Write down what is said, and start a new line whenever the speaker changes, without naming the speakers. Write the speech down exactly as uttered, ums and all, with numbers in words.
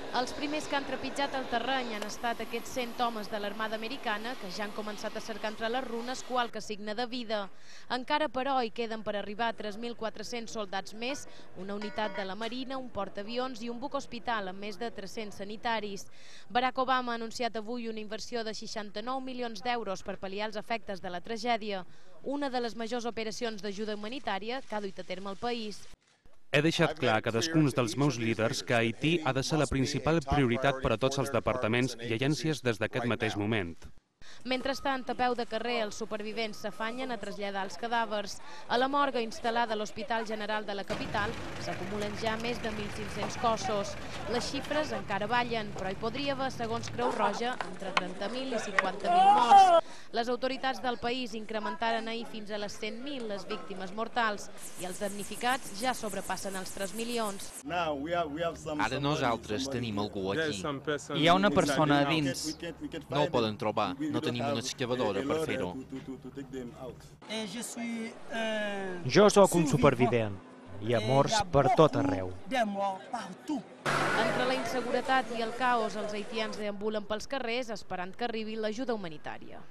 Els primers que han trepitjat el terreny han estat aquests cent homes de l'Armada Americana que ja han començat a cercar entre les runes qualque signe de vida. Encara, però, hi queden per arribar tres mil quatre-cents soldats més, una unitat de la Marina, un portaavions i un buc hospital amb més de tres-cents sanitaris. Barack Obama ha anunciat avui una inversió de seixanta-nou milions d'euros per pal·liar els efectes de la tragèdia, una de les majors operacions d'ajuda humanitària que ha duit a terme el país.
He deixat clar a cadascun dels meus líders que Haití ha de ser la principal prioritat per a tots els departaments i agències des d'aquest mateix moment.
Mentrestant, a peu de carrer, els supervivents s'afanyen a traslladar els cadàvers. A la morgue instal·lada a l'Hospital General de la capital s'acumulen ja més de mil cinc-cents cossos. Les xifres encara ballen, però hi podria haver, segons Creu Roja, entre trenta mil i cinquanta mil morts. Les autoritats del país incrementaren ahir fins a les cent mil les víctimes mortals i els damnificats ja sobrepassen els tres milions.
Ara nosaltres tenim algú aquí.
Hi ha una persona a dins.
No el poden trobar. No tenim una excavadora per fer-ho.
Jo sóc un supervivent. Hi ha morts per tot arreu.
Entre la inseguretat i el caos, els haitians deambulen pels carrers esperant que arribi l'ajuda humanitària.